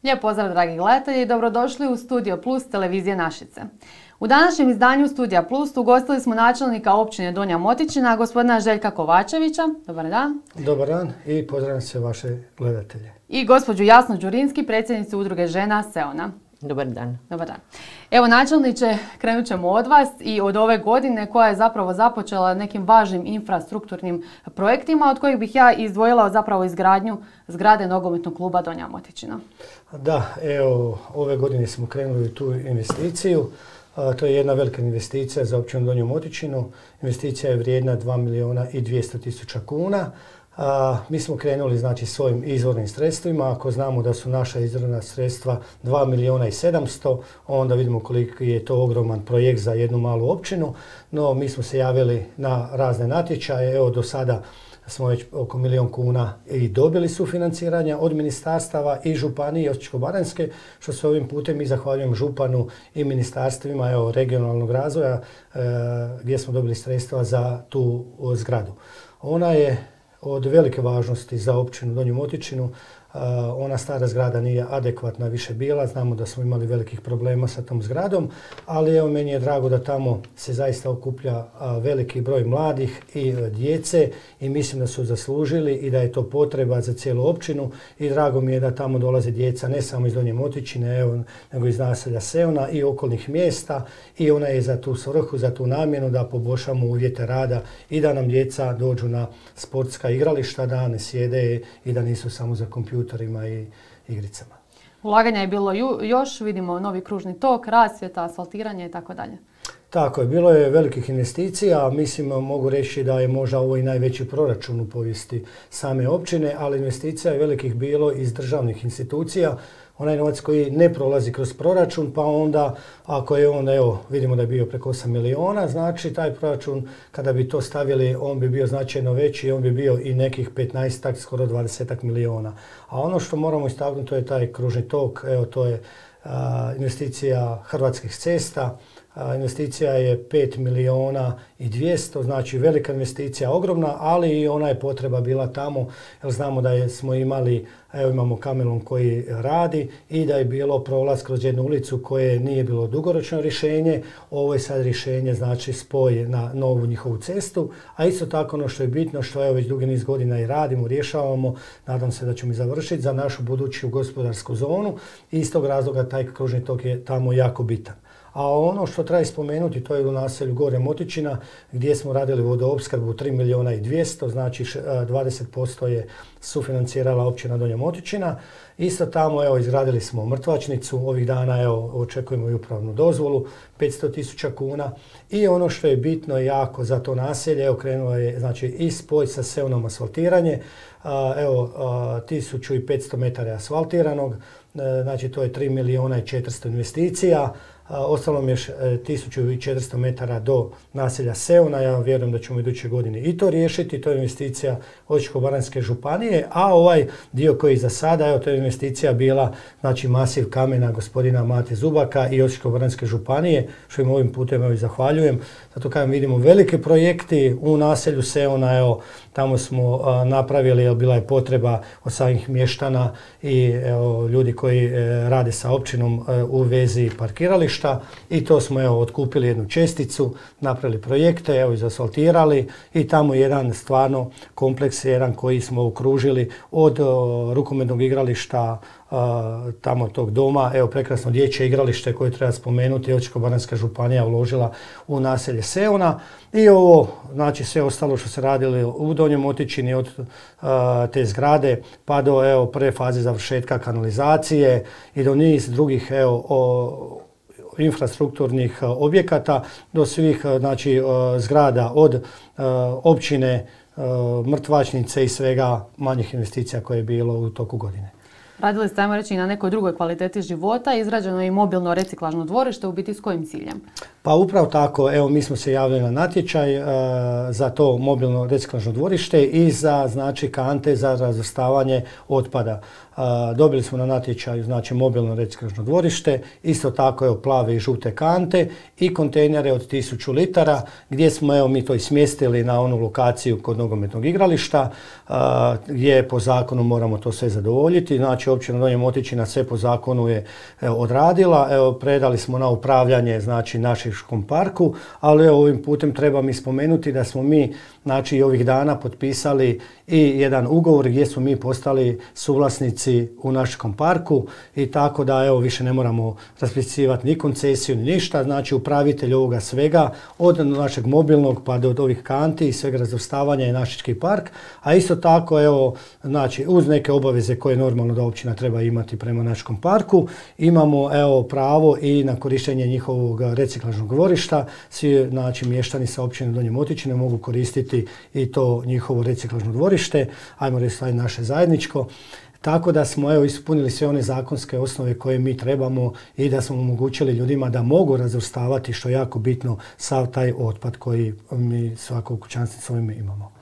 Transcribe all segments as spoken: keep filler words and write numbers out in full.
Lijep pozdrav dragi gledatelji i dobrodošli u Studio Plus televizije Našice. U današnjem izdanju Studija Plus ugostili smo načelnika općine Donja Motičina, gospodina Željka Kovačevića. Dobar dan. Dobar dan i pozdravljam se vaše gledatelje. I gospođu Jasnu Đurinski, predsjednicu udruge žena Seona. Dobar dan. Dobar dan. Evo načelniče, krenut ćemo od vas i od ove godine koja je zapravo započela nekim važnim infrastrukturnim projektima od kojih bih ja izdvojila zapravo izgradnju zgrade nogometnog kluba Donja Motičina. Da, evo ove godine smo krenuli u tu investiciju. A, to je jedna velika investicija za općinu Donju Motičinu. Investicija je vrijedna dva milijuna i dvjesto tisuća kuna. A, mi smo krenuli znači svojim izvornim sredstvima. Ako znamo da su naša izvorna sredstva dva milijuna i sedamsto, onda vidimo koliko je to ogroman projekt za jednu malu općinu. No, mi smo se javili na razne natječaje. Evo do sada smo već oko milijun kuna i dobili sufinanciranja od ministarstava i županije Osječko-baranjske, što se ovim putem i zahvaljujem županu i ministarstvima evo, regionalnog razvoja e, gdje smo dobili sredstva za tu zgradu. Ona je od velike važnosti za općinu Donju Motičinu. Uh, ona stara zgrada nije adekvatna više bila, znamo da smo imali velikih problema sa tom zgradom, ali evo meni je drago da tamo se zaista okuplja uh, veliki broj mladih i uh, djece i mislim da su zaslužili i da je to potreba za cijelu općinu i drago mi je da tamo dolaze djeca ne samo iz Donje Motičine, evo, nego iz naselja Seona i okolnih mjesta i ona je za tu svrhu, za tu namjenu da poboljšamo uvjete rada i da nam djeca dođu na sportska igrališta, da ne sjede i da nisu samo za kompjuter i igricama. Ulaganja je bilo ju, još, vidimo novi kružni tok, rasvjeta, asfaltiranje i tako dalje. Tako je, bilo je velikih investicija, mislim mogu reći da je možda ovo i najveći proračun u povijesti same općine, ali investicija je velikih bilo iz državnih institucija. Onaj novac koji ne prolazi kroz proračun, pa onda ako je on, evo, vidimo da je bio preko osam milijuna, znači taj proračun kada bi to stavili, on bi bio značajno veći, on bi bio i nekih petnaestak, skoro dvadesetak milijuna. A ono što moramo istaknuti to je taj kružni tok, evo to je a, investicija Hrvatskih cesta. A, investicija je pet milijuna i dvjesto, znači velika investicija, ogromna, ali i ona je potreba bila tamo, jer znamo da je, smo imali, evo imamo kamelon koji radi i da je bilo prolaz kroz jednu ulicu koje nije bilo dugoročno rješenje. Ovo je sad rješenje, znači spoj na novu njihovu cestu, a isto tako ono što je bitno, što evo već dugi niz godina i radimo, rješavamo, nadam se da ćemo i završiti za našu buduću gospodarsku zonu i iz tog razloga taj kružni tok je tamo jako bitan. A ono što treba spomenuti, to je u naselju Gore Motičina gdje smo radili vodoopskrbu tri milijuna i dvjesto, znači dvadeset posto je sufinancirala općina Donja Motičina. Isto tamo evo, izgradili smo mrtvačnicu, ovih dana evo, očekujemo i upravnu dozvolu, petsto tisuća kuna. I ono što je bitno jako za to naselje, evo, krenulo je znači, i spoj sa Seonom asfaltiranje, a, evo a, tisuću petsto metara asfaltiranog, a, znači to je tri milijuna i četiristo investicija. Ostalo mi je tisuću četiristo metara do naselja Seona, ja vjerujem da ćemo iduće godine i to riješiti, to je investicija Osječko-baranjske županije, a ovaj dio koji za sada, evo to je investicija bila, znači masiv kamena gospodina Mate Zubaka i Osječko-baranjske županije, što im ovim putem evo i zahvaljujem. Zato kada vidimo velike projekti u naselju Seona, evo tamo smo a, napravili, jer bila je potreba od samih mještana i evo, ljudi koji e, rade sa općinom e, u vezi parkirališta. I to smo evo, otkupili jednu česticu, napravili projekte, evo, izasfaltirali i tamo jedan stvarno kompleks jedan koji smo okružili od o, rukometnog igrališta, a, tamo tog doma, evo prekrasno dječje igralište koje treba spomenuti, Osječko-baranjska županija uložila u naselje Seona i ovo, znači sve ostalo što se radili u Donjoj Motičini od a, te zgrade pa do evo, prve faze završetka kanalizacije i do niz drugih evo, o, infrastrukturnih objekata do svih znači, zgrada od općine, mrtvačnice i svega manjih investicija koje je bilo u toku godine. Radili ste, ajmo reći, na nekoj drugoj kvaliteti života, izrađeno je i mobilno reciklažno dvorište, u biti s kojim ciljem? Pa upravo tako, evo mi smo se javili na natječaj uh, za to mobilno reciklažno dvorište i za znači kante za razvrstavanje otpada. Uh, dobili smo na natječaju znači mobilno reciklažno dvorište, isto tako evo plave i žute kante i kontejnere od tisuću litara gdje smo evo mi to i smjestili na onu lokaciju kod nogometnog igrališta uh, gdje po zakonu moramo to sve zadovoljiti. Znači općina Donja Motičina sve po zakonu je evo, odradila, evo predali smo na upravljanje znači Našičkom parku, ali evo, ovim putem treba mi spomenuti da smo mi znači ovih dana potpisali i jedan ugovor gdje smo mi postali suvlasnici u Našičkom parku i tako da evo više ne moramo raspisivati ni koncesiju ni ništa, znači upravitelj ovoga svega od našeg mobilnog pa do ovih kanti i svega razvrstavanja je Našički park, a isto tako evo znači uz neke obaveze koje normalno da općina treba imati prema Našičkom parku imamo evo pravo i na korištenje njihovog reciklažnog dvorišta. Svi znači mještani sa općine Donje Motičine mogu koristiti i to njihovo reciklažno dvorište, ajmo reći naše zajedničko. Tako da smo evo ispunili sve one zakonske osnove koje mi trebamo i da smo omogućili ljudima da mogu razvrstavati, što je jako bitno, sav taj otpad koji mi svako kućanstvo s ovime imamo.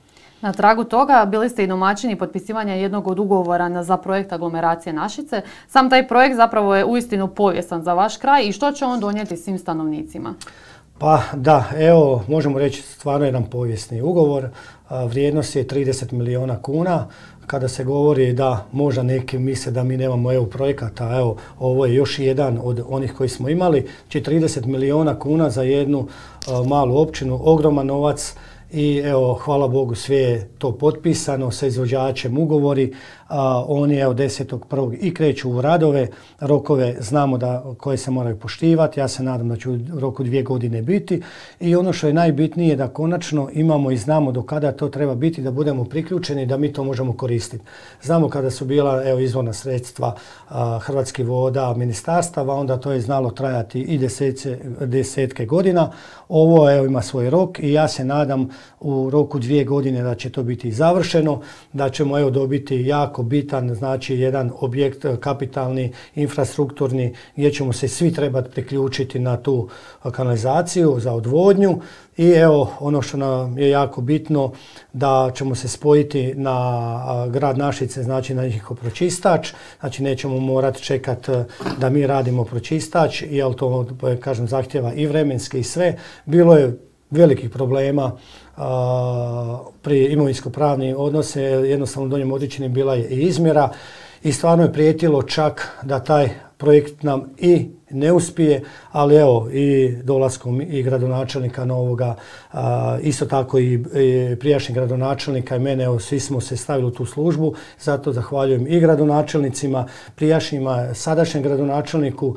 Na tragu toga bili ste i domaćini potpisivanja jednog od ugovora za projekt aglomeracije Našice. Sam taj projekt zapravo je uistinu povijestan za vaš kraj i što će on donijeti svim stanovnicima? Pa da, evo možemo reći stvarno jedan povijesni ugovor. Vrijednost je trideset milijuna kuna. Kada se govori da možda neki misle da mi nemamo evo projekata, evo ovo je još jedan od onih koji smo imali. Znači trideset milijuna kuna za jednu uh, malu općinu, ogroman novac. I evo, hvala Bogu, sve je to potpisano sa izvođačem ugovori. A, oni evo desetog prvog i kreću u radove, rokove znamo da koje se moraju poštivati. Ja se nadam da će u roku dvije godine biti. I ono što je najbitnije da konačno imamo i znamo do kada to treba biti, da budemo priključeni, da mi to možemo koristiti. Znamo kada su bila evo izvorna sredstva a, Hrvatskih voda, ministarstava, onda to je znalo trajati i desece, desetke godina. Ovo evo ima svoj rok i ja se nadam u roku dvije godine da će to biti završeno, da ćemo evo dobiti jako bitan, znači jedan objekt kapitalni, infrastrukturni, gdje ćemo se svi trebati priključiti na tu kanalizaciju za odvodnju. I evo ono što nam je jako bitno, da ćemo se spojiti na grad Našice, znači na njihov pročistač, znači nećemo morati čekati da mi radimo pročistač, jer to kažem zahtjeva i vremenski i sve. Bilo je velikih problema a, pri imovinsko-pravnim odnose, jednostavno u Donjem Motičini bila je i izmjera i stvarno je prijetilo čak da taj projekt nam i ne uspije, ali evo i dolaskom i gradonačelnika novoga, a, isto tako i, i prijašnjeg gradonačelnika i mene, evo, svi smo se stavili u tu službu, zato zahvaljujem i gradonačelnicima, prijašnjima, sadašnjem gradonačelniku,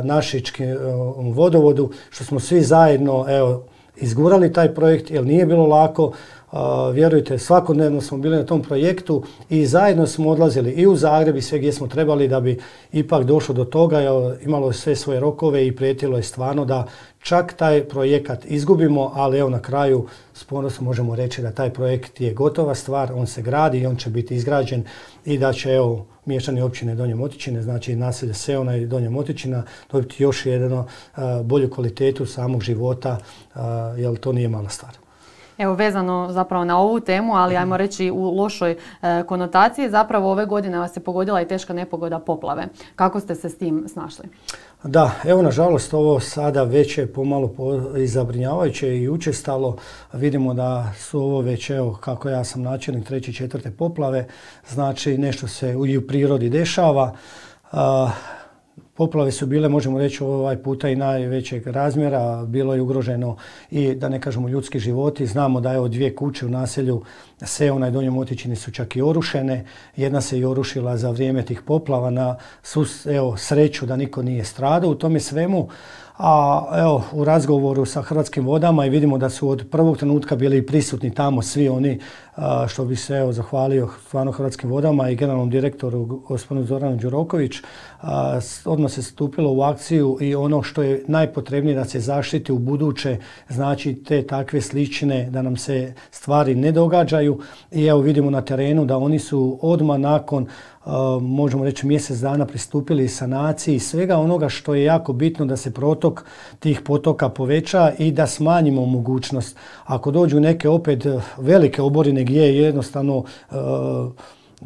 Našičkom vodovodu, što smo svi zajedno evo, izgurali taj projekt jer nije bilo lako. Uh, vjerujte, svakodnevno smo bili na tom projektu i zajedno smo odlazili i u Zagreb i sve gdje smo trebali da bi ipak došlo do toga. Imalo je sve svoje rokove i prijetilo je stvarno da čak taj projekat izgubimo, ali evo na kraju s ponosom možemo reći da taj projekt je gotova stvar, on se gradi i on će biti izgrađen i da će evo mještani općine Donje Motičine, znači naselje Seona i Donja Motičina, dobiti još jednu uh, bolju kvalitetu samog života, uh, jer to nije mala stvar. Evo vezano zapravo na ovu temu, ali ajmo reći u lošoj e, konotaciji, zapravo ove godine vas je pogodila i teška nepogoda poplave. Kako ste se s tim snašli? Da, evo nažalost ovo sada već je pomalo i zabrinjavajuće i učestalo. Vidimo da su ovo već, evo kako ja sam načelnik treće i četvrte poplave, znači nešto se i u prirodi dešava. A, Poplave su bile, možemo reći, ovaj puta i najvećeg razmjera. Bilo je ugroženo i, da ne kažemo, ljudski životi. Znamo da evo dvije kuće u naselju Seona i Donje Motičini su čak i orušene. Jedna se i orušila za vrijeme tih poplava, na evo, sreću da niko nije stradao u tome svemu. A evo, u razgovoru sa Hrvatskim vodama i vidimo da su od prvog trenutka bili prisutni tamo svi oni, što bi se evo, zahvalio stvarno Hrvatskim vodama i generalnom direktoru gospodinu Zoranu Đuroković. Odmah se stupilo u akciju i ono što je najpotrebnije da se zaštiti u buduće, znači te takve slične, da nam se stvari ne događaju. I evo vidimo na terenu da oni su odmah nakon možemo reći mjesec dana pristupili sanaciji svega onoga što je jako bitno da se protok tih potoka poveća i da smanjimo mogućnost. Ako dođu neke opet velike oborine gdje jednostavno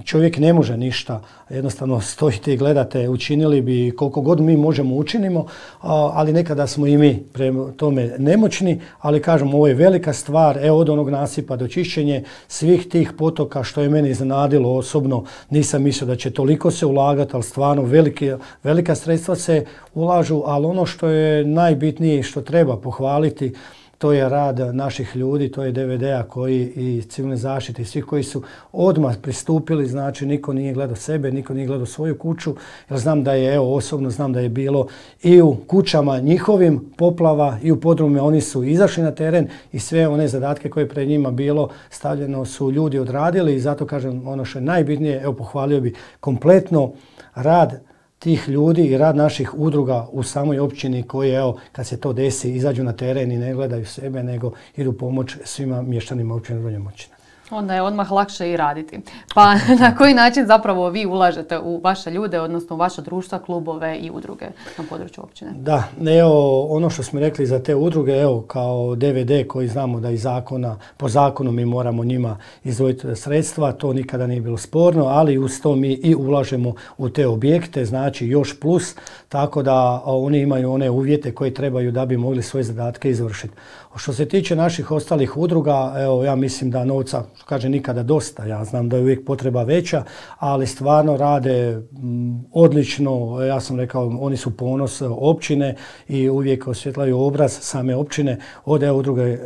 čovjek ne može ništa, jednostavno stojite i gledate, učinili bi koliko god mi možemo učinimo, ali nekada smo i mi prema tome nemoćni, ali kažem, ovo je velika stvar, evo od onog nasipa do čišćenje svih tih potoka, što je mene iznenadilo osobno, nisam mislio da će toliko se ulagati, ali stvarno velike, velika sredstva se ulažu, ali ono što je najbitnije i što treba pohvaliti, to je rad naših ljudi, to je D V D-a koji i civilne zaštite i svi koji su odmah pristupili, znači niko nije gledao sebe, niko nije gledao svoju kuću, jer znam da je, evo osobno znam da je bilo i u kućama njihovim poplava i u podrume, oni su izašli na teren i sve one zadatke koje je pred njima bilo stavljeno su ljudi odradili i zato kažem ono što je najbitnije, evo pohvalio bi kompletno rad tih ljudi i rad naših udruga u samoj općini koji, evo, kad se to desi, izađu na teren i ne gledaju sebe, nego idu pomoć svima mještanima općine Donja Motičina. Onda je odmah lakše i raditi. Pa na koji način zapravo vi ulažete u vaše ljude, odnosno u vaša društva, klubove i udruge na području općine? Da, evo ono što smo rekli za te udruge, evo kao D V D koji znamo da iz zakona, po zakonu mi moramo njima izdvojiti sredstva, to nikada nije bilo sporno, ali uz to mi i ulažemo u te objekte, znači još plus, tako da oni imaju one uvjete koje trebaju da bi mogli svoje zadatke izvršiti. Što se tiče naših ostalih udruga, evo ja mislim da novca, kaže nikada dosta, ja znam da je uvijek potreba veća, ali stvarno rade m, odlično, ja sam rekao oni su ponos općine i uvijek osvjetlaju obraz same općine, od evo udruge e,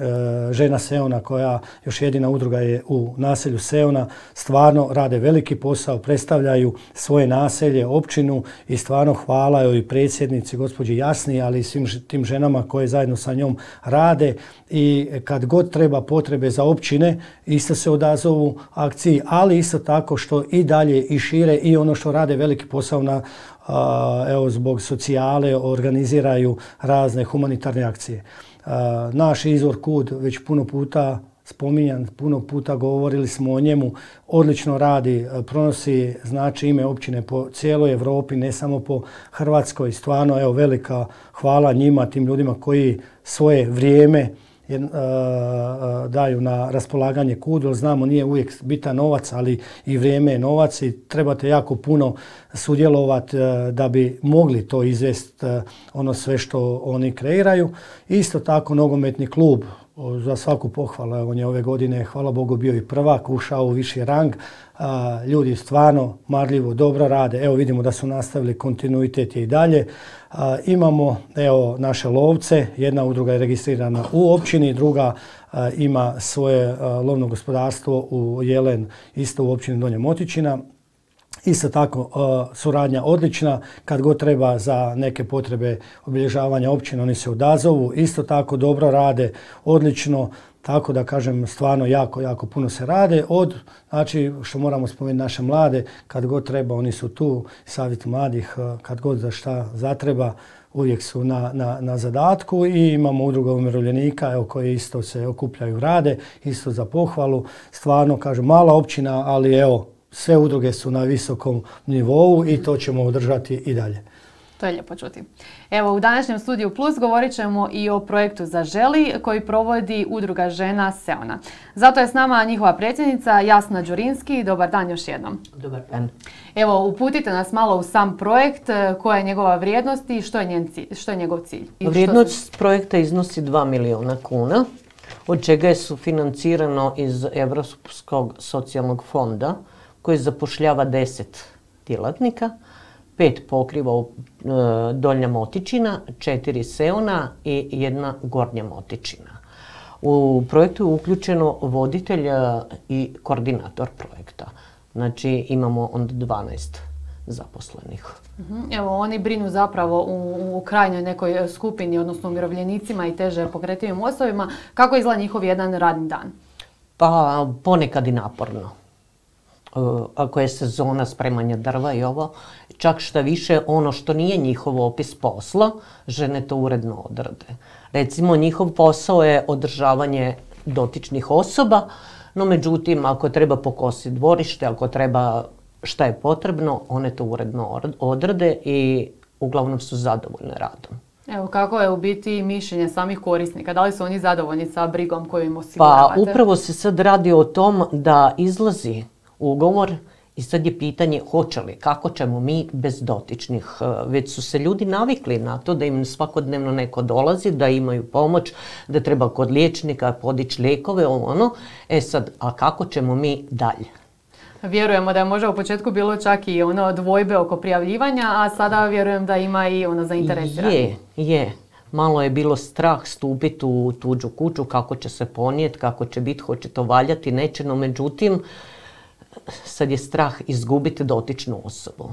Žena Seona koja još jedina udruga je u naselju Seona, stvarno rade veliki posao, predstavljaju svoje naselje, općinu i stvarno hvala joj i predsjednici gospođi Jasni, ali i svim tim ženama koje zajedno sa njom rade i kad god treba potrebe za općine isto se odazovu akciji, ali isto tako što i dalje i šire i ono što rade veliki posao na, a, evo zbog socijale organiziraju razne humanitarne akcije. A, naš izvor Kud već puno puta spominjan, puno puta govorili smo o njemu, odlično radi, pronosi znači ime općine po cijeloj Europi, ne samo po Hrvatskoj. Stvarno, evo, velika hvala njima, tim ljudima koji svoje vrijeme je, uh, daju na raspolaganje Kudu, jer znamo nije uvijek bitan novac, ali i vrijeme je novac i trebate jako puno sudjelovati uh, da bi mogli to izvesti, uh, ono sve što oni kreiraju. Isto tako nogometni klub, za svaku pohvalu, on je ove godine, hvala Bogu, bio i prvak, ušao u viši rang. A, ljudi stvarno marljivo dobro rade, evo vidimo da su nastavili, kontinuitet je i dalje. A, imamo evo naše lovce, jedna udruga je registrirana u općini, druga a, ima svoje a, lovno gospodarstvo u Jelen, isto u općini Donja Motičina. Isto tako uh, suradnja odlična, kad god treba za neke potrebe obilježavanja općine oni se odazovu, isto tako dobro rade, odlično, tako da kažem stvarno jako, jako puno se rade. Od, znači što moramo spomenuti naše mlade, kad god treba oni su tu, savjet mladih, uh, kad god za šta zatreba, uvijek su na, na, na zadatku i imamo udruga umirovljenika evo, koje isto se okupljaju, rade, isto za pohvalu, stvarno kažem mala općina, ali evo, sve udruge su na visokom nivou i to ćemo održati i dalje. To je lijepo čuti. Evo, u današnjem Studiju Plus govorit ćemo i o projektu Zaželi koji provodi udruga Žena Seona. Zato je s nama njihova predsjednica Jasna Đurinski. Dobar dan još jednom. Dobar dan. Evo, uputite nas malo u sam projekt, koja je njegova vrijednost i što je, njen cilj, što je njegov cilj. I vrijednost se... projekta iznosi dva milijuna kuna, od čega je sufinancirano iz Europskog socijalnog fonda, koji zapošljava deset djelatnika, pet pokriva e, Donja Motičina, četiri Seona i jedna Gornja Motičina. U projektu je uključeno voditelj i koordinator projekta. Znači imamo onda dvanaest zaposlenih. Evo, oni brinu zapravo u, u krajnjoj nekoj skupini, odnosno umirovljenicima i teže pokretljivim osobama. Kako izgleda njihov jedan radni dan? Pa ponekad i naporno. Ako je sezona spremanja drva i ovo, čak šta više ono što nije njihov opis posla, žene to uredno odrade. Recimo njihov posao je održavanje dotičnih osoba, no međutim ako treba pokositi dvorište, ako treba šta je potrebno, one to uredno odrade i uglavnom su zadovoljne radom. Evo, kako je u biti mišljenje samih korisnika? Da li su oni zadovoljni sa brigom koju im osiguravate? Pa upravo se sad radi o tom da izlazi ugovor i sad je pitanje hoće li, kako ćemo mi bez dotičnih. Već su se ljudi navikli na to da im svakodnevno neko dolazi, da imaju pomoć, da treba kod liječnika podići lijekove, ono. E sad, a kako ćemo mi dalje? Vjerujemo da je možda u početku bilo čak i ono dvojbe oko prijavljivanja, a sada vjerujem da ima i ono zainteresirani. Je, je. Malo je bilo strah stupiti u tuđu kuću, kako će se ponijeti, kako će biti, hoće to valjati, neće, no međutim, sad je strah izgubiti dotičnu osobu.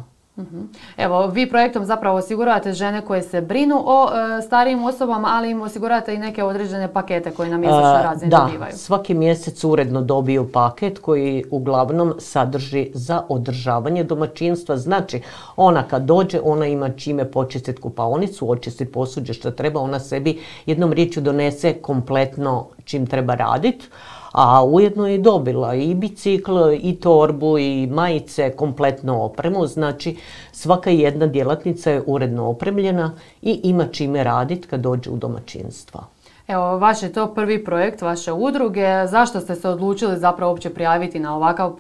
Evo, vi projektom zapravo osiguravate žene koje se brinu o e, starijim osobama, ali im osiguravate i neke određene pakete koje na mjesečnoj razini da, dobivaju. Da, svaki mjesec uredno dobiju paket koji uglavnom sadrži za održavanje domaćinstva. Znači, ona kad dođe, ona ima čime počistiti kupaonicu, očistiti posuđe što treba, ona sebi jednom riječju donese kompletno čim treba raditi. A ujedno je dobila i bicikl, i torbu, i majice, kompletnu opremu. Znači, svaka jedna djelatnica je uredno opremljena i ima čime raditi kad dođe u domaćinstva. Evo, vaš je to prvi projekt vaše udruge. Zašto ste se odlučili zapravo uopće prijaviti na ovakav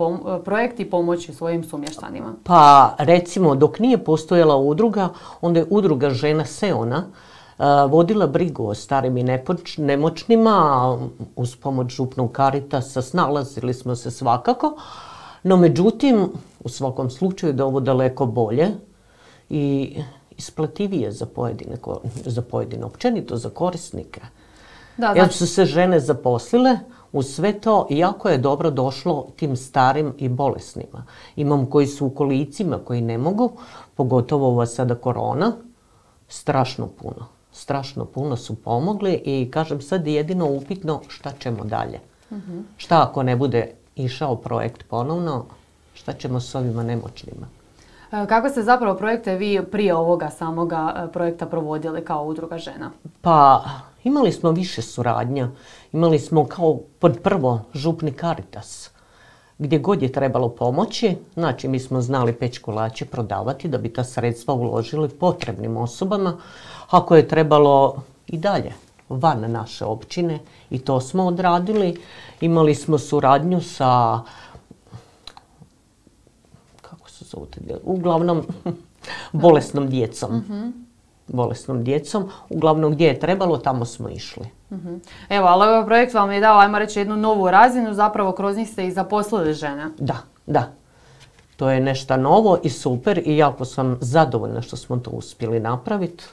projekt i pomoći svojim sumještanima? Pa, recimo, dok nije postojala udruga, onda je udruga Žena Seona vodila brigu o starim i nemoćnima, uz pomoć župnog Caritasa snalazili smo se svakako, no međutim, u svakom slučaju da ovo daleko bolje i isplativije za pojedine, za pojedine općenito za korisnike. Da, znači... Jer su se žene zaposlile, uz sve to jako je dobro došlo tim starim i bolesnima. Imam koji su u kolicima, koji ne mogu, pogotovo ova sada korona, strašno puno. Strašno puno su pomogli i kažem sad jedino upitno šta ćemo dalje. Uh-huh. Šta ako ne bude išao projekt ponovno, šta ćemo s ovima nemoćnima? Kako ste zapravo projekte vi prije ovoga samoga projekta provodili kao udruga žena? Pa imali smo više suradnja. Imali smo kao pod prvo župni Caritas. Gdje god je trebalo pomoći, znači mi smo znali peć kolače prodavati da bi ta sredstva uložili potrebnim osobama. Ako je trebalo i dalje van naše općine i to smo odradili. Imali smo suradnju sa, kako se zove, uglavnom bolesnom djecom. Uh-huh. bolesnom djecom. Uglavnom gdje je trebalo, tamo smo išli. Uh-huh. Evo, ali ovaj projekt vam je dao, ajmo reći, jednu novu razinu, zapravo kroz njih ste i zaposlili žene. Da, da. To je nešto novo i super i jako sam zadovoljna što smo to uspjeli napraviti.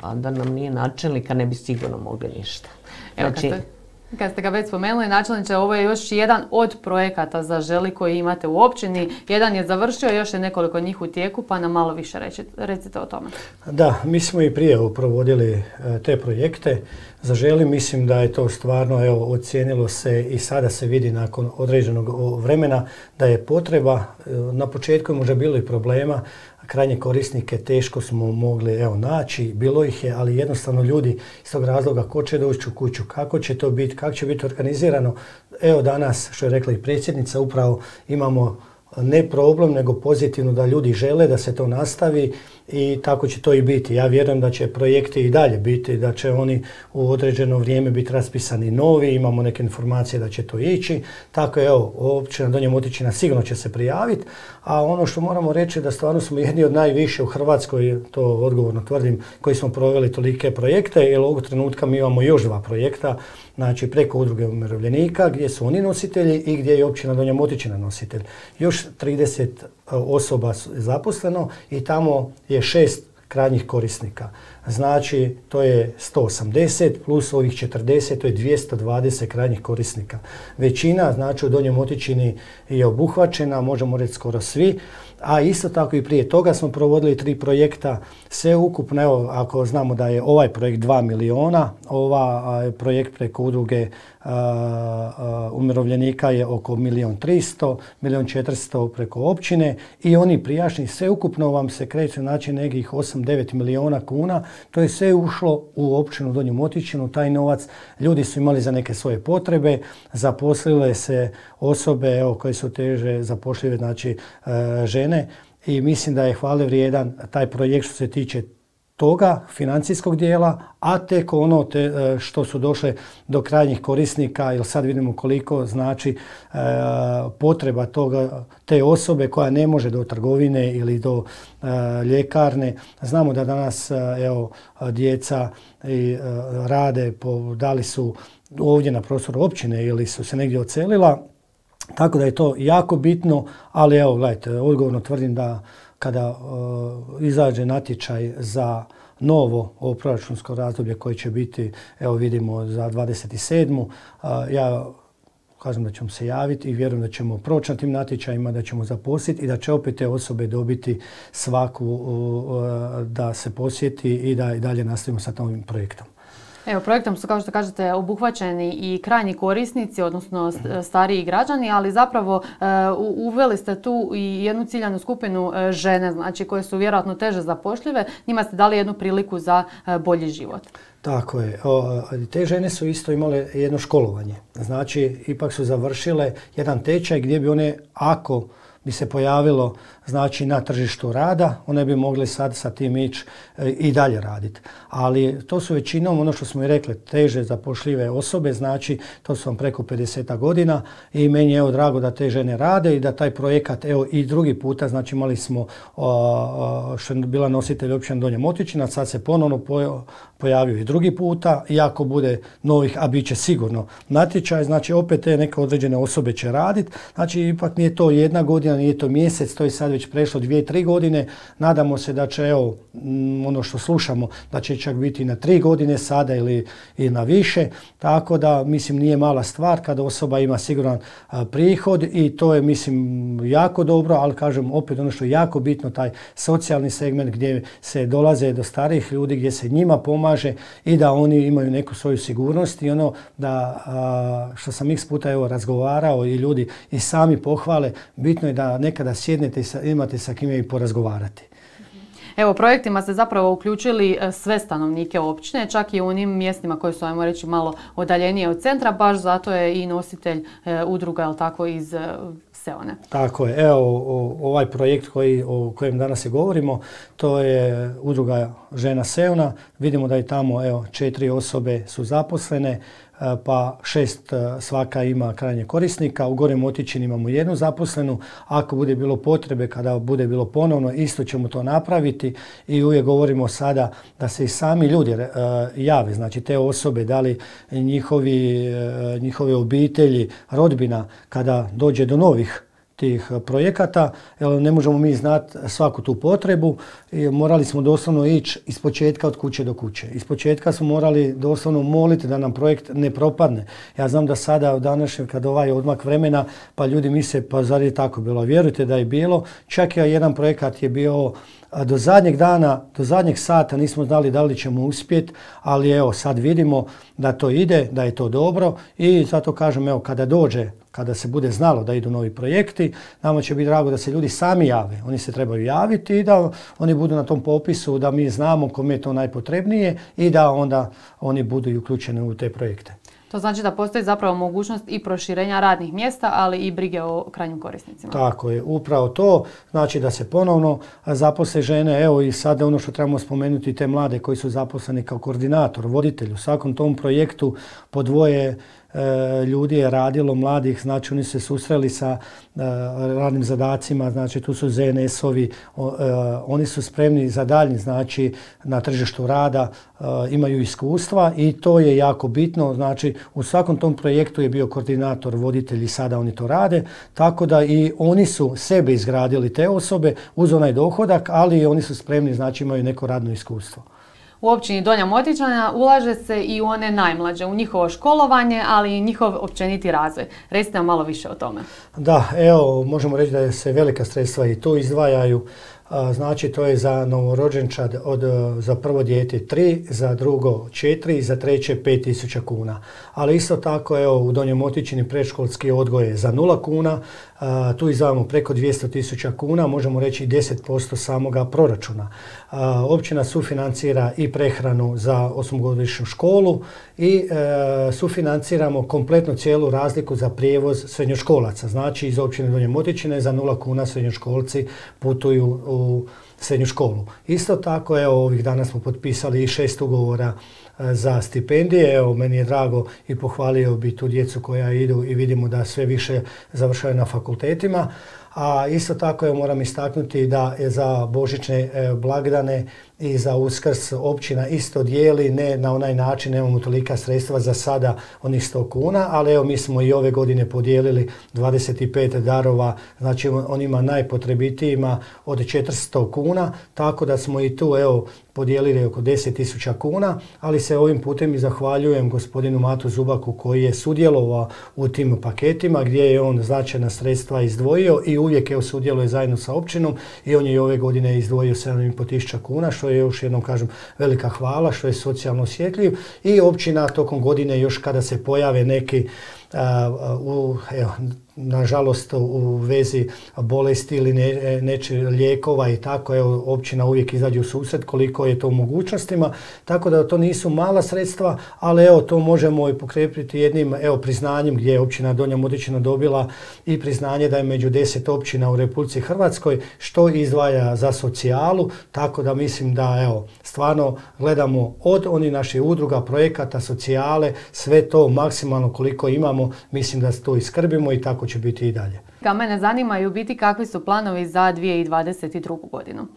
A da nam nije načelnika, ne bi sigurno mogli ništa. Evo, znači, kad, ste, kad ste ga već spomenuli, načelniče, ovo je još jedan od projekata Zaželi koji imate u općini. Jedan je završio, još je nekoliko njih u tijeku, pa nam malo više reći, recite o tome. Da, mi smo i prije provodili te projekte. Zaželi, mislim da je to stvarno, evo, ocijenilo se i sada se vidi nakon određenog vremena da je potreba. Na početku je možda bilo i problema, krajnje korisnike teško smo mogli evo, naći, bilo ih je, ali jednostavno ljudi iz tog razloga ko će doći u kuću, kako će to biti, kako će biti organizirano. Evo danas, što je rekla i predsjednica, upravo imamo ne problem, nego pozitivno da ljudi žele da se to nastavi i tako će to i biti. Ja vjerujem da će projekti i dalje biti, da će oni u određeno vrijeme biti raspisani novi, imamo neke informacije da će to ići. Tako je, evo, općina Donja Motičina sigurno će se prijaviti, a ono što moramo reći da stvarno smo jedni od najviše u Hrvatskoj, to odgovorno tvrdim, koji smo proveli tolike projekte, jer ovog trenutka mi imamo još dva projekta, znači preko udruge umirovljenika gdje su oni nositelji i gdje je općina Donja Motičina nositelj. Još trideset osoba zaposleno i tamo je šest krajnjih korisnika. Znači to je sto osamdeset plus ovih četrdeset, to je dvjesto dvadeset krajnjih korisnika. Većina, znači u Donjoj Motičini je obuhvaćena, možemo reći skoro svi, A isto tako i prije toga smo provodili tri projekta, sve ukupno, evo, ako znamo da je ovaj projekt dva miliona, ova projekt preko udruge a, a, umirovljenika je oko milijon tristo, milijon četiristo preko općine i oni prijašnji, sve ukupno vam se kreće znači nekih osam do devet miliona kuna, to je sve ušlo u općinu Donju Motičinu, taj novac ljudi su imali za neke svoje potrebe, zaposlile se osobe evo, koje su teže zapošljive, znači e, žene i mislim da je hvale vrijedan taj projekt što se tiče toga financijskog dijela, a tek ono te, što su došle do krajnjih korisnika, jer sad vidimo koliko znači e, potreba toga, te osobe koja ne može do trgovine ili do e, ljekarne. Znamo da danas evo, djeca i, e, rade, po, da li su ovdje na prostoru općine ili su se negdje odselila, tako da je to jako bitno, ali evo gledajte, odgovorno tvrdim da kada uh, izađe natječaj za novo ovo proračunsko razdoblje koje će biti, evo vidimo za dvadeset sedmu. Uh, ja kažem da ćemo se javiti i vjerujem da ćemo proći na tim natječajima, da ćemo zaposliti i da će opet te osobe dobiti svaku uh, da se posjeti i da i dalje nastavimo sa ovim projektom. Evo, projektom su, kao što kažete, obuhvaćeni i krajnji korisnici, odnosno stariji građani, ali zapravo uveli ste tu i jednu ciljanu skupinu žene, znači koje su vjerojatno teže zapošljive. Njima ste dali jednu priliku za bolji život. Tako je. O, te žene su isto imale jedno školovanje. Znači, ipak su završile jedan tečaj gdje bi one, ako bi se pojavilo znači na tržištu rada, one bi mogli sad sa tim ići e, i dalje raditi. Ali to su većinom, ono što smo i rekli, teže zapošljive osobe, znači to su vam preko pedeset godina i meni je evo drago da te žene rade i da taj projekat, evo i drugi puta, znači imali smo o, o, što je bila nositelj općine Donja Motičina, sad se ponovno pojo, pojavio i drugi puta, i ako bude novih, a bit će sigurno natječaj, znači opet te neke određene osobe će raditi, znači ipak nije to jedna godina, nije to mjesec, to je sad već prešlo dvije, tri godine. Nadamo se da će, evo, ono što slušamo, da će čak biti na tri godine sada ili i na više. Tako da, mislim, nije mala stvar kada osoba ima siguran a, prihod i to je, mislim, jako dobro, ali kažem, opet ono što je jako bitno, taj socijalni segment gdje se dolaze do starijih ljudi, gdje se njima pomaže i da oni imaju neku svoju sigurnost i ono da, a, što sam x puta evo razgovarao i ljudi i sami pohvale, bitno je da nekada sjednete i sa, imate sa kime i porazgovarati. Evo, projektima ste zapravo uključili sve stanovnike općine, čak i u onim mjestima koji su, ajmo reći, malo udaljenije od centra, baš zato je i nositelj e, udruga, jel tako, iz e, Seone. Tako je. Evo, o, ovaj projekt koji, o kojem danas i govorimo, to je udruga Žena Seona. Vidimo da je tamo, evo, četiri osobe su zaposlene, pa šest svaka ima krajnje korisnika. U Gornjem Motičinu imamo jednu zaposlenu. Ako bude bilo potrebe, kada bude bilo ponovno, isto ćemo to napraviti i uvijek govorimo sada da se i sami ljudi uh, jave, znači te osobe, da li njihovi, uh, njihove obitelji, rodbina, kada dođe do novih tih projekata, jer ne možemo mi znati svaku tu potrebu i morali smo doslovno ići iz početka od kuće do kuće. Iz početka smo morali doslovno moliti da nam projekt ne propadne. Ja znam da sada u današnjem, kad ovaj odmak vremena, pa ljudi misle, pa zar je tako bilo? Vjerujte da je bilo. Čak je jedan projekat je bio do zadnjeg dana, do zadnjeg sata nismo znali da li ćemo uspjeti, ali evo sad vidimo da to ide, da je to dobro i zato kažem, evo, kada dođe, kada se bude znalo da idu novi projekti, nama će biti drago da se ljudi sami jave. Oni se trebaju javiti i da oni budu na tom popisu, da mi znamo kome je to najpotrebnije i da onda oni budu i uključeni u te projekte. To znači da postoji zapravo mogućnost i proširenja radnih mjesta, ali i brige o krajnjim korisnicima. Tako je, upravo to. Znači da se ponovno zaposle žene. Evo i sada ono što trebamo spomenuti, te mlade koji su zaposleni kao koordinator, voditelj. U svakom tom projektu po dvoje ljudi je radilo, mladih, znači oni se susreli sa uh, radnim zadacima, znači tu su Z N S-ovi, uh, oni su spremni za daljnji, znači na tržištu rada, uh, imaju iskustva i to je jako bitno, znači u svakom tom projektu je bio koordinator, voditelj i sada oni to rade, tako da i oni su sebe izgradili te osobe uz onaj dohodak, ali oni su spremni, znači imaju neko radno iskustvo. u općini Donja Motičina ulaže se i u one najmlađe, u njihovo školovanje, ali i njihov općeniti razvoj. Recite nam malo više o tome. Da, evo, možemo reći da se velika sredstva i tu izdvajaju. Znači, to je za novorođenčad od, za prvo dijete tri, za drugo četiri i za treće pet tisuća kuna. Ali isto tako, evo, u Donjoj Motičini predškolski odgoj je za nula kuna. A, tu izdvajamo preko dvjesto tisuća kuna, možemo reći deset posto samoga proračuna. A, općina sufinancira i prehranu za osmogodišnju školu i e, sufinanciramo kompletnu cijelu razliku za prijevoz srednjoškolaca. Znači, iz općine Donje Motičine za nula kuna srednjoškolci putuju u srednju školu. Isto tako, evo, ovih dana smo potpisali i šest ugovora za stipendije. Evo, meni je drago i pohvalio bi tu djecu koja idu i vidimo da sve više završaju na fakultetima. A isto tako, evo, moram istaknuti da je za božićne e, blagdane i za Uskrs općina isto dijeli, ne na onaj način, nemamo tolika sredstva za sada, onih sto kuna, ali evo, mi smo i ove godine podijelili dvadeset pet darova, znači onima najpotrebitijima od četiristo kuna, tako da smo i tu, evo, podijelili oko deset tisuća kuna, ali se ovim putem i zahvaljujem gospodinu Matu Zubaku koji je sudjelovao u tim paketima gdje je on značajna sredstva izdvojio i uvijek, evo, sudjeluje zajedno sa općinom i on je i ove godine izdvojio sedam i pol tisuća kuna, što je, još jednom kažem, velika hvala, što je socijalno osjetljiv, i općina tokom godine, još kada se pojave neki Uh, u, evo, nažalost, u vezi bolesti ili ne, neče lijekova i tako, evo, općina uvijek izađe u susret koliko je to u mogućnostima, tako da to nisu mala sredstva, ali evo, to možemo i pokrepiti jednim, evo, priznanjem gdje je općina Donja Motičina dobila i priznanje da je među deset općina u Republici Hrvatskoj što izdvaja za socijalu, tako da mislim da, evo, stvarno gledamo od onih naših udruga, projekata, socijale, sve to maksimalno koliko imamo, mislim da to iskrbimo i tako će biti i dalje. Ka mene zanimaju biti kakvi su planovi za dvije tisuće dvadeset drugu. godinu.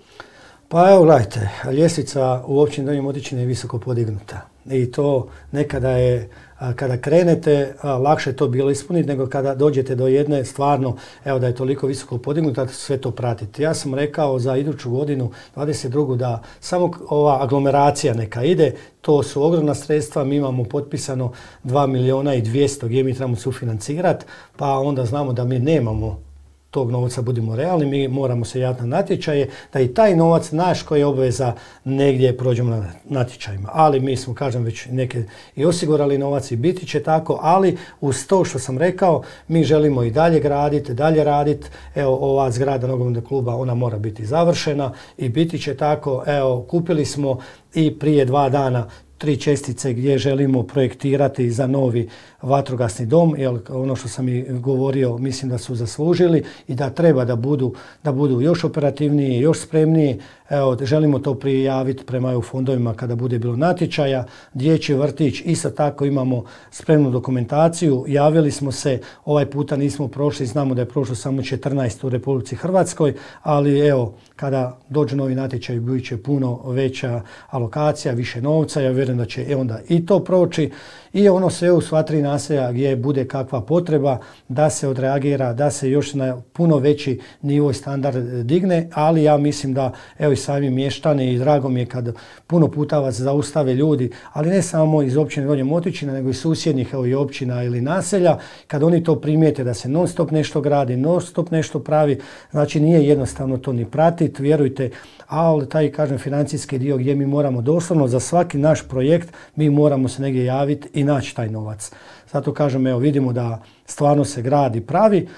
Pa evo, gledajte, ljestvica u općini Donje Motičine je visoko podignuta i to nekada je, kada krenete, lakše je to bilo ispuniti nego kada dođete do jedne, stvarno, evo, da je toliko visoko podignuta, sve to pratiti. Ja sam rekao za iduću godinu, dvadeset drugu, da samo ova aglomeracija neka ide, to su ogromna sredstva, mi imamo potpisano dva milijuna i dvjesto gdje mi trebamo sufinancirati, pa onda znamo da mi nemamo tog novca, budimo realni, mi moramo se javiti na natječaje, da i taj novac naš koji je obveza negdje prođemo na natječajima. Ali mi smo, kažem, već neke i osigurali novac i biti će tako, ali uz to što sam rekao, mi želimo i dalje graditi, dalje raditi. Evo, ova zgrada nogometnog kluba, ona mora biti završena i biti će tako. Evo, kupili smo i prije dva dana tri čestice gdje želimo projektirati za novi vatrogasni dom, jer ono što sam i govorio, mislim da su zaslužili i da treba da budu, da budu još operativniji, još spremniji. Evo, želimo to prijaviti prema E U fondovima kada bude bilo natječaja. Dječji vrtić, isto tako imamo spremnu dokumentaciju. Javili smo se, ovaj puta nismo prošli, znamo da je prošlo samo četrnaest u Republici Hrvatskoj, ali evo, kada dođe novi natječaj, bit će puno veća alokacija, više novca. Ja vjerujem da će onda i to proći. I ono sve u sva tri naselja gdje bude kakva potreba da se odreagira, da se još na puno veći nivo i standard digne, ali ja mislim da, evo, i sami mještani, i drago mi je kad puno puta vas zaustave ljudi, ali ne samo iz općine Donje Motičina, nego i susjednih, evo, i općina ili naselja, kad oni to primijete da se non stop nešto gradi, non stop nešto pravi, znači nije jednostavno to ni pratiti, vjerujte, ali taj, kažem, financijski dio gdje mi moramo doslovno za svaki naš projekt, mi moramo se negdje javiti i naći taj novac. Zato kažem, evo, vidimo da stvarno se gradi pravi.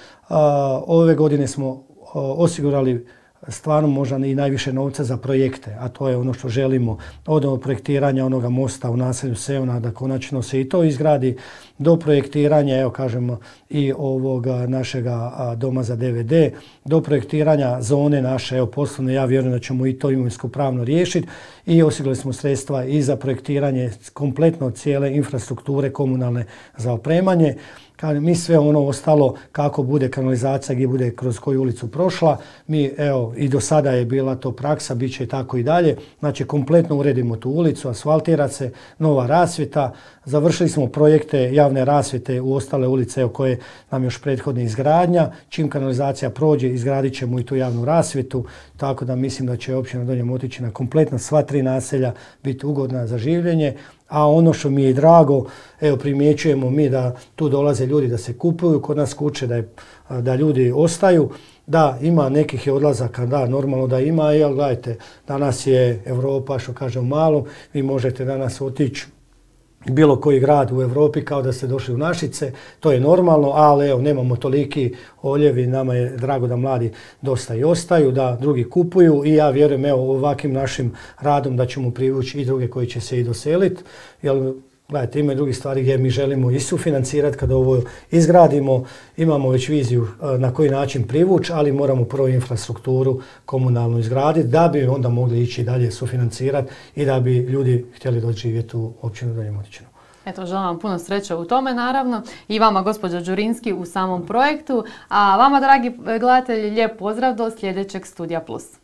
Ove godine smo osigurali stvarno možda i najviše novca za projekte, a to je ono što želimo, od projektiranja onoga mosta u naselju Sevna, da konačno se i to izgradi, do projektiranja, evo, kažemo, i ovoga našega doma za D V D, do projektiranja zone naše, evo, poslovne, ja vjerujem da ćemo i to imovinsko pravno riješiti, i osigurali smo sredstva i za projektiranje kompletno cijele infrastrukture komunalne za opremanje. Kažem, mi sve ono ostalo kako bude kanalizacija, gdje bude kroz koju ulicu prošla, mi evo i do sada je bila to praksa, bit će tako i dalje. Znači kompletno uredimo tu ulicu, asfaltira se, nova rasvjeta, završili smo projekte javne rasvjete u ostale ulice evo, koje nam još prethodne izgradnja. Čim kanalizacija prođe, izgradit ćemo i tu javnu rasvjetu, tako da mislim da će općina Donja Motičina kompletno sva tri naselja biti ugodna za življenje. A ono što mi je drago, evo primjećujemo mi da tu dolaze ljudi da se kupuju kod nas kuće, da, je, da ljudi ostaju. Da, ima nekih je odlazaka, da, normalno da ima, jel gledajte, danas je Europa, što kažem malo, vi možete danas otići bilo koji grad u Europi kao da ste došli u Našice, to je normalno, ali evo nemamo toliki oljevi, nama je drago da mladi dosta i ostaju, da drugi kupuju i ja vjerujem evo ovakvim našim radom da ćemo privući i druge koji će se i doseliti, jer gledajte, ima i drugih stvari gdje mi želimo i sufinancirati kada ovo izgradimo, imamo već viziju na koji način privući, ali moramo prvo infrastrukturu komunalnu izgraditi da bi onda mogli ići dalje sufinancirati i da bi ljudi htjeli doći živjeti u općinu Donja Motičina. Eto, želim vam puno sreće u tome, naravno, i vama, gospođo Đurinski, u samom projektu, a vama, dragi gledatelji, lijep pozdrav do sljedećeg Studija Plus.